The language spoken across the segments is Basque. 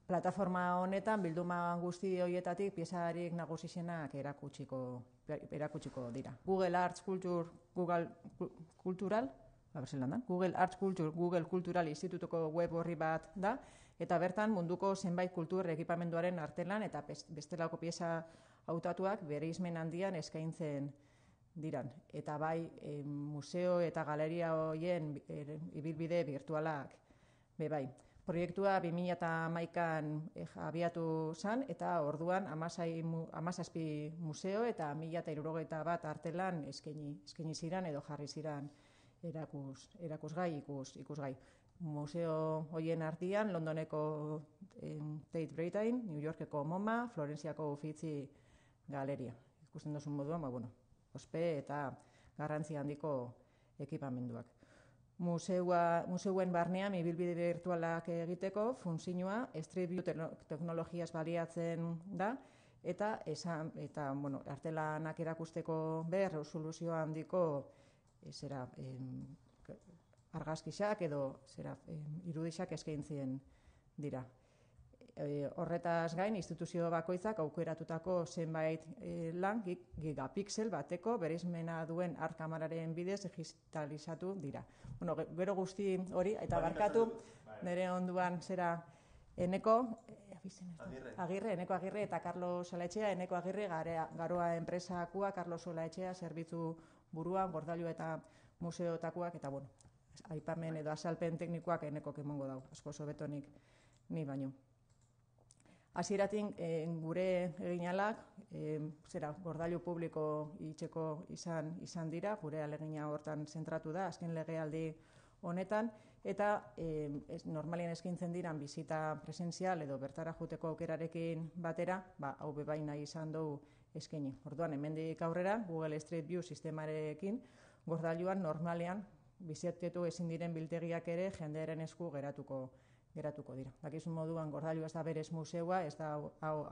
Plataforma honetan bilduma guzti horietatik piezarik nagusienak erakutsiko dira. Google Arts Culture, Google Cultural, Google Arts Culture, Google Cultural Institutuko web horri bat da, eta bertan munduko zenbait kultur ekipamenduaren artelan eta bestelako pieza hautatuak bere ismen handian eskaintzen diran. Eta bai, museo eta galeria horien ibilbide virtualak bai. Proiektua 2011an abiatu zen, eta orduan 17 museo eta 1071 artelan eskaini ziren edo jarri ziren ikusgai. Museo horien artean Londoneko Tate Britain, New Yorkeko MoMA, Florentziako Uffizi Galeria. Ikusten duzun moduan, ospe eta garrantzi handiko ekipamenduak. Museuen barnean ibilbide virtualak egiteko funtzioa Street View teknologiaz baliatzen da, eta artelanak erakusteko resoluzio handiko argazkiak edo irudixak eskaintzen dira. Horretaz gain, instituzio bakoitzak aukeratutako zenbait lan gigapixel bateko bereizmena duen art kameraren bidez digitalizatu dira. Gero guzti hori, eta barkatu, nire onduan Eneko Agirre eta Carlos Olaetxea, Eneko Agirre Garoa enpresakua, Carlos Olaetxea zerbitzu buruan, gordailu eta museotakoak, eta aipamen edo azalpen teknikoak Enekok emongo dau, asko sobetonik ni baino. Hasieratik gure eginalak gordailu publiko itxeko izan dira, gure alegina hortan zentratu da, azken legealdi honetan, eta normalien eskaintzen diran bizita presentzial edo bertara juteko aukerarekin batera, hau bebaina izan dugu eskaini. Orduan, hemendik aurrera, Google Street View sistemarekin, gordailuan normalean bizitetu ezin diren biltegiak ere jendearen esku geratuko dira. Dakizun moduan, gordailu ez da berez museoa, ez da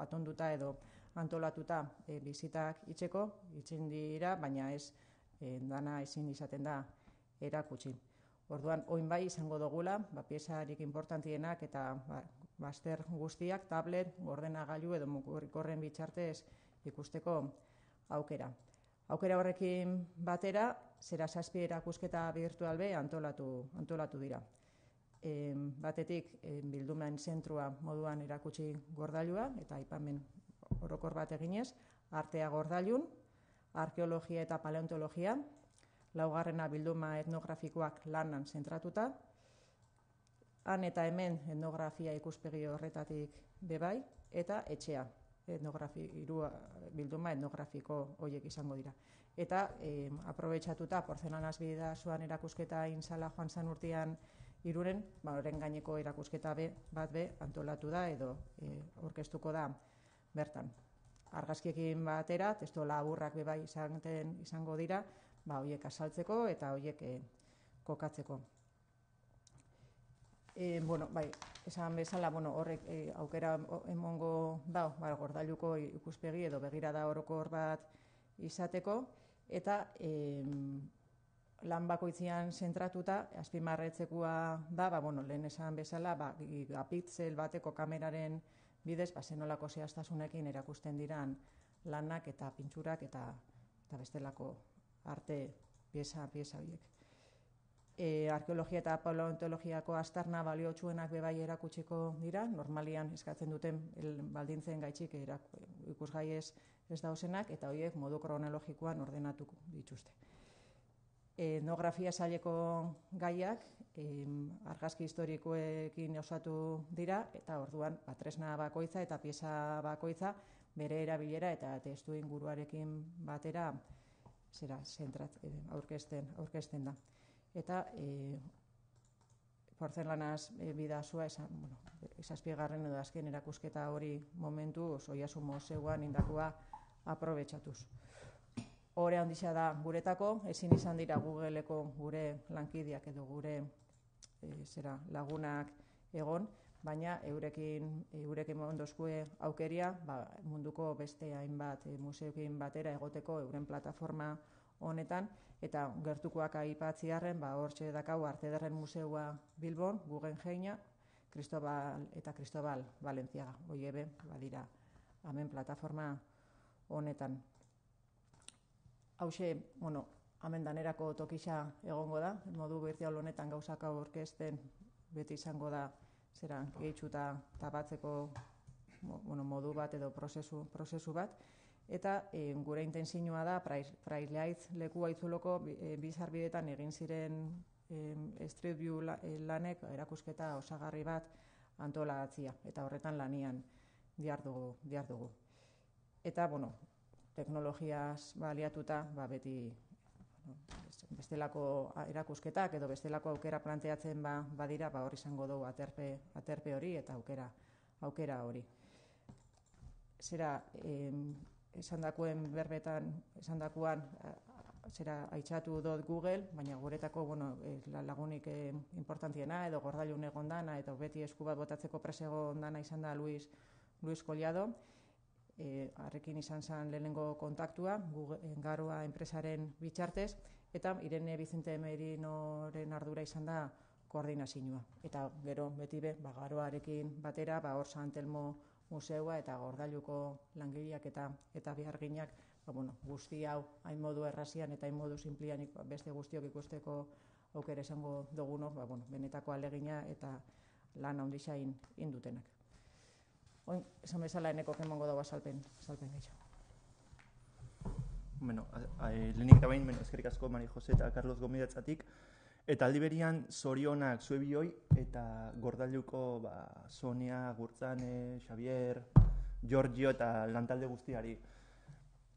atonduta edo antolatuta bizitak itxen dira, baina ez dana ezin izaten da erakutsi. Orduan, oin bai izango dugula, piezarik importantienak eta bazter guztiak, tablet, ordenagailu edo mugikorren bitartez ikusteko aukera. Aukera horrekin batera, 7 erakusketa virtual be antolatu dira. Batetik bildumen zentrua moduan erakutsi gordailua eta aipamen orokor bat eginez, artea gordailun, arkeologia eta paleontologia, laugarrena bilduma etnografikoak lanan zentratuta, han eta hemen etnografia ikuspegi horretatik bebai, eta etxea, bilduma etnografiko horiek izango dira. Eta aprobetxatuta porzelanaz bidazuan erakusketa inzala joan zan urtean Irunen, horren gaineko erakusketa bat antolatu da edo orkestuko da bertan. Argazkiekin batera, testu laburrak bebai izango dira, horiek azaltzeko eta horiek kokatzeko. Esan bezala, horrek aukera emongo da, gordailuko ikuspegi edo begirada orokor bat izateko, eta lan bakoitzian zentratuta, azpimarretzekoa da, lehen esan bezala, gigapixel bateko kameraren bidez, zenolako zehaztasunekin erakusten diran lanak eta pintxurak eta bestelako arte pieza horiek. Arkeologia eta paleontologiako aztarna baliotsuenak bebai erakutsiko dira, normalian eskatzen duten baldintzen gaitxik ikusgai ez dauzenak, eta horiek modu kronologikoan ordenatuko dituzte. Etnografia saileko gaiak argazki historikoekin osatu dira, eta orduan tresna bakoitza eta pieza bakoitza bere erabilera eta testu inguruarekin batera aurkezten da. Eta porzelanaz bidazua, esazpiegarren edo azken erakusketa hori momentu Oiartzun Museoan indakua aprobetxatuz. Hore handitza da guretako, ezin izan dira Googleeko gure lankideak edo gure lagunak egon, baina eurekin ondozkue aukeria munduko beste hainbat museoekin batera egoteko euren plataforma honetan, eta gertukoak aipatziarren, hortxe dakau Arte Ederren Museoa Bilbon, Guggenheima, Cristobal eta Cristobal Valentziaga. Hoiebe, badira, hemen plataforma honetan. Hauxe, hemen danerako tokisa egongo da, modu virtual honetan gauzak aurkezten beti izango da gehitxuta tapatzeko modu bat edo prozesu bat. Eta gure intentzioa da, Praileaitz leku aitzuloko bizarbidetan egin ziren Street View lanek erakusketa osagarri bat antolagatzia, eta horretan lanian dihardugu. Eta, teknologiaz baliatuta, beti bestelako erakusketak edo bestelako aukera planteatzen badira, hor izango dugu aterpe hori eta aukera hori. Esandakoen berbetan, esandakoan, aitzatu dut Google, baina guretako lagunik importantiena edo gordailun egon dana eta beti esku bat botatzeko prese egon dana izan da Luis Collado. Harrekin izan zen lehenengo kontaktua, Garoa enpresaren bitxartez, eta Irene Vicente Merinoren ardura izan da koordinazioa. Eta gero beti Garoarekin batera, hor San Telmo museua eta Gordailuko langileak eta beharginak, guzti hau hain modu errazian eta hain modu simplian beste guztiok ikusteko aukera izango dugunok, benetako alegina eta lan handia indutenak. Oin, esan bezala eneko kemongo dago azalpen gehiago. Lehenik eta behin, eskerrik asko Mari Jose eta Carlos Gomidatzatik, eta aldi berian zorionak zuebioi eta Gordailuko Sonia, Gurtzane, Xavier, Giorgio eta lantalde guztiari.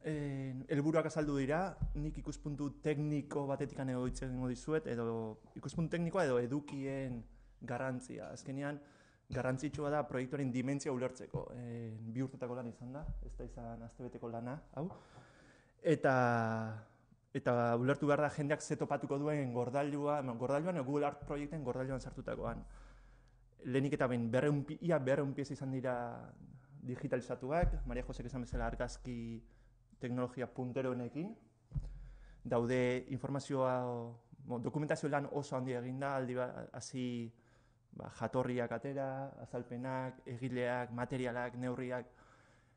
Helburuak azaldu dira, nik ikuspuntu tekniko batetik edo hitz egingo dizuet, edo ikuspuntu teknikoa edo edukien garrantzia. Azkenean, garrantzitsua da proiektuaren dimentsia ulertzeko. 2 urtetako lan izan da, ez da izan astebeteko lana, hau. Eta ulertu behar da jendeak ze topatuko duen Gordailuan, Google Art proiekten Gordailuan sartutakoan. Lehenik eta behin, ia 200 pieza izan dira digitalizatuak, Maria Josek esan bezala argazki teknologia punteroenekin. Daude informazioa, dokumentazio lan oso handia eginda, aldi hasi jatorriak atera, azalpenak, egileak, materialak, neurriak,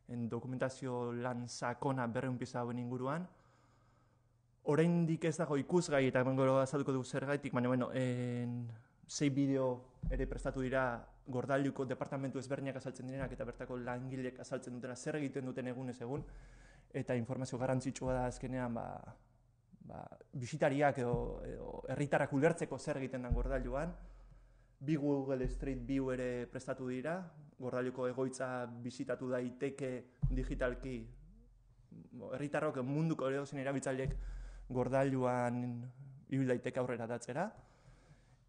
dokumentazio lan sakona 200 pieza hauen inguruan. Oraindik ez dago ikusgai eta gero azalduko dugu zergaitik, baina 6 bideo ere prestatu dira Gordailuko departamentu ezberdinak azaltzen direnak eta bertako langilek azaltzen dutena zer egiten duten egunez egun, eta informazio garrantzitsua da azkenean bisitariak edo herritarrak ulertzeko zer egiten den Gordailuan. 2 Google Street View ere prestatu dira, Gordailuko egoitza bisitatu daiteke digitalki, herritarrok munduko edozein erabiltzaileek Gordailuan ibil daiteke aurrera datzera.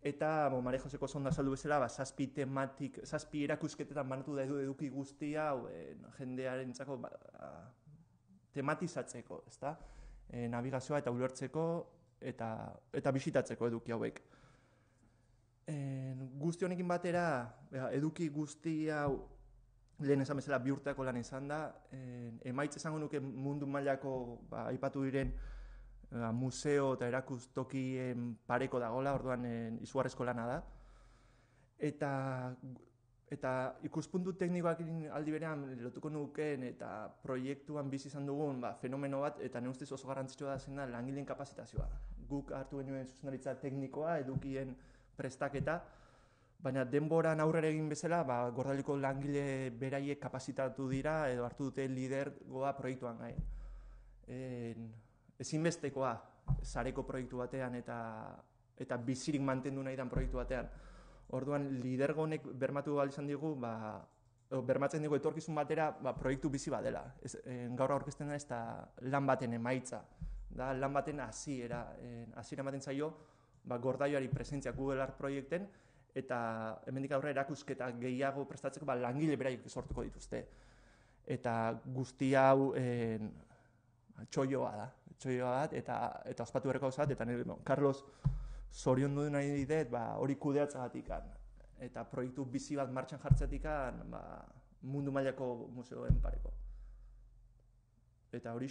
Eta Maria Joseko sonda azaldu bezala, 7 erakusketetan banatu da eduki guztia jendearentzako tematizatzeko, ezta? Navigazioa eta ulertzeko eta bisitatzeko eduki hauek. Guzti honekin batera, eduki guzti hau lehen esan bezala 2 urteako lan izan da, emaitz esango nuke mundu mailako aipatu diren museo eta erakustokien pareko dagoela, orduan izugarrizko lana da. Eta ikuspuntu teknikoak aldi berean lotuko nukeen eta proiektuan bizi izan dugun fenomeno bat, eta nire ustez oso garrantzitsua da zen da langileen kapazitazioa. Guk hartu genuen zuzendaritza teknikoa, edukien prestaketa, baina denboran aurrera egin bezala, Gordailuko langile beraiek kapazitatu dira edo hartu dute lidergoa proiektuan gain. Ezinbestekoa sareko proiektu batean eta bizirik mantendu nahi den proiektu batean. Orduan, lidergo honek bermatu ahal izan digu, bermatzen digu etorkizun batera proiektu bizi bat dela. Gaur aurkezten da ez da lan baten emaitza, da lan baten hasiera ematen zaio Gordailuari presentzia Google Art proiekten, eta hemendik aurrera erakusketa gehiago prestatzeko langile beraiek sortuko dituzte. Eta guzti hau txoioa bat, eta ospatu berreko gauzat, eta Carlos zorion du nahi dit hori kudeatzagatik, eta proiektu bizi bat martxan jartzetik mundu mailako museoen pareko. Eta hori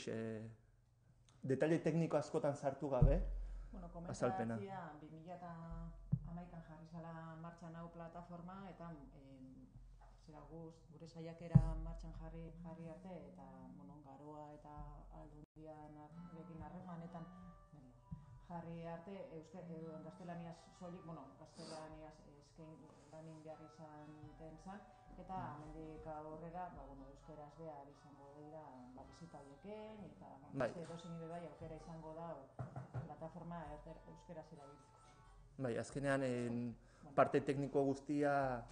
detaile tekniko askotan sartu gabe, azalpena. Komentatzia 2011an jarri zala martxan hau plataforma, eta gure saiakera martxan jarri arte, eta Garoa eta Aldundiarekin harremanetan jarri arte, gaztelaniaz soilik, gaztelaniaz lanin behar izan zan, eta hemendik aurrera euskeraz behar izango dira bizita horieken, eta beste edozein bai aukera izango da plataforma euskeraz erabiltzeko. Bai, azkenean parte tekniko guztia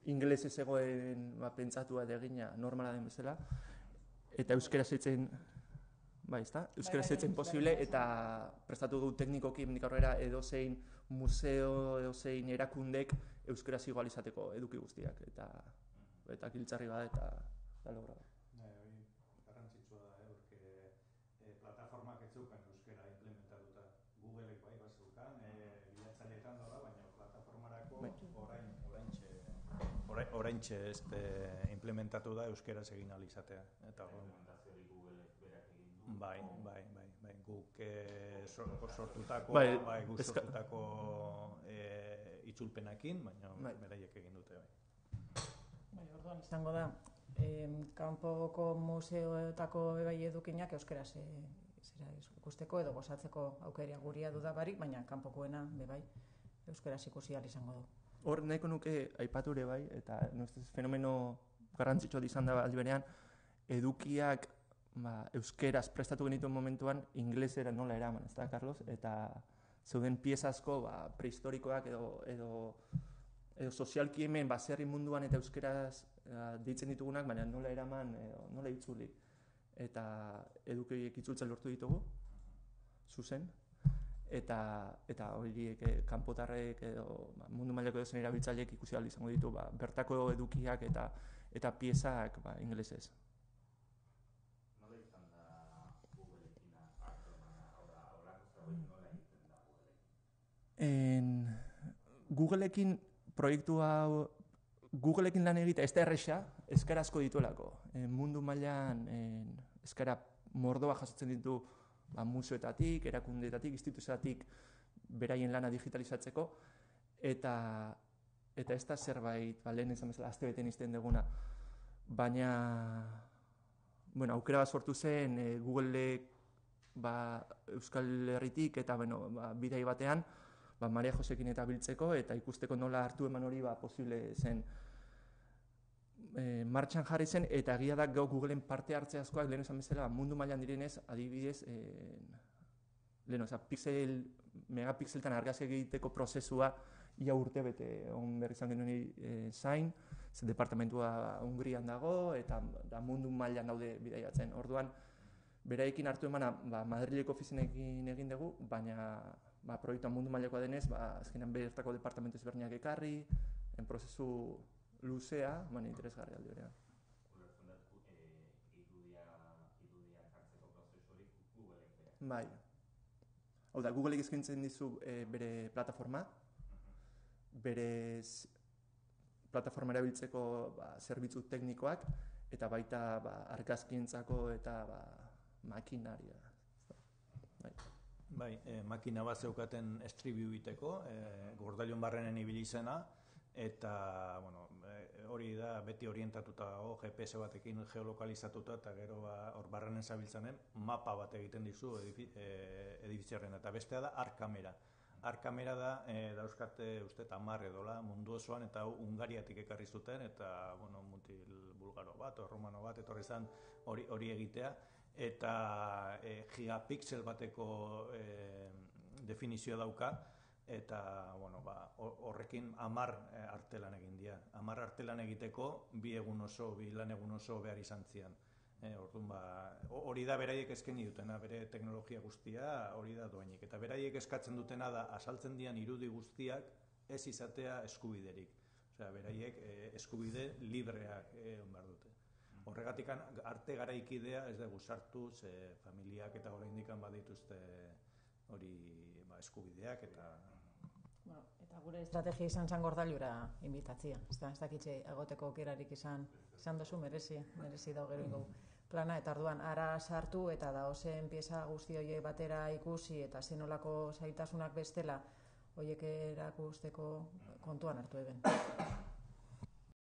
ingelesez egoen pentsatua egina normala den bezala, eta euskeraz eitzen euskaraz eitzen posible, eta prestatu du teknikoki hemendik aurrera edozein museo, edozein erakundek euskaraz igual izateko eduki guztiak, eta giltzarri bada eta logra. Hori garrantzitsua da, porque plataformak ez zeukan euskara implementatuta. Googleek bai bazeukan, bilatzaileetan dola, baina plataformarako oraintxe implementatu da euskaraz egin ahal izatea. Bai, guk sortutako itzulpenakin, baina beraiek egin dute. Orduan izango da, kanpoko museoetako bai edukinak euskaraz ikusteko edo gozatzeko aukeria guria dudabarik, baina kanpokoena bai euskaraz ikusi ahal izango du. Hor nahiko nuke aipatu ere bai, eta fenomeno garrantzitsua izan da aldi berean, edukiak euskeraz prestatu genituen momentuan inglesera nola eraman, ez da, Carlos? Eta zeuden pieza asko prehistorikoak edo sozialki hemen baserri munduan eta euskeraz deitzen ditugunak, baina nola eraman, nola itzuli. Eta eduki horiek itzultzen lortu ditugu, zuzen. Eta horiek kanpotarrek edo mundu mailako edozein erabiltzaileek ikusi ahal izango ditu bertako edukiak eta piezak ingelesez. Nola izan da Googleekin harremana, horrelako zerbait nola egiten da Googleekin proiektu hau Googleekin lan egitea ez da erresa, eskarazko dituelako. Mundu mailan eskara mordoa jasotzen ditu museoetatik, erakundeetatik, instituzioetatik beraien lana digitalizatzeko, eta ez da zerbait, lehen esan bezala, astebeten izten duguna, baina aukera bat sortu zen Googleek Euskal Herritik eta bidai batean Maria Josekin eta biltzeko eta ikusteko nola hartu eman hori posible zen martxan jarri zen, eta egia da Googleen parte hartze askoak lehen esan bezala mundu mailan direnez, adibidez megapixeltan argazki egiteko prozesua ia urtebete on behar izan genuen zain, departamentua Hungrian dago eta mundu mailan daude bidaiatzen. Orduan, beraiekin hartu emana Madrileko ofizinekin egin dugu, baina proiektua mundu mailakoa denez, azkenean bertako departamentu ezberdinak ekarri, prozesu luzea, interesgarria aldi berean. Ulertzen dut, irudiak hartzeko prozesu hori Googleek berak. Bai. Hau da, Googleek eskaintzen dizu bere plataforma, bere plataforma erabiltzeko zerbitzu teknikoak, eta baita argazkientzako eta makinaria. Bai, makina bat zeukaten estribiu biteko, Gordailon barrenen ibili zena, eta hori da beti orientatuta dago, GPS batekin geolokalizatuta, eta gero hor barrenen zabiltzanen mapa bat egiten dizu edifizioaren, eta bestea da arkamera. Arkamera da, dauzkate uste 10 edola mundu osoan, eta Hungariatik ekarri zuten, eta mutil bulgaro bat, romano bat, etorri zen hori egitea, eta gigapixel bateko definizioa dauka, eta horrekin 10 artelan egin dira. 10 artelan egiteko bi lan egun oso behar izan zian. Hori da beraiek eskaini dutena, bere teknologia guztia hori da doainik. Eta beraiek eskatzen dutena da asaltzen dian irudi guztiak ez izatea eskubiderik. Osea, beraiek eskubide libreak behar dute. Horregatik arte garaikidea ez dugu sartu, familiak eta oraindik badituzte hori eskubideak eta... Eta gure estrategia izan zen Gordailura inbitatzia. Ez dakitxe agoteko aukerarik izan duzu, merezi dago gero plana, eta orduan ara sartu eta daozen pieza guzti horiek batera ikusi eta zenolako zailtasunak bestela horiek erakusteko kontuan hartu eben.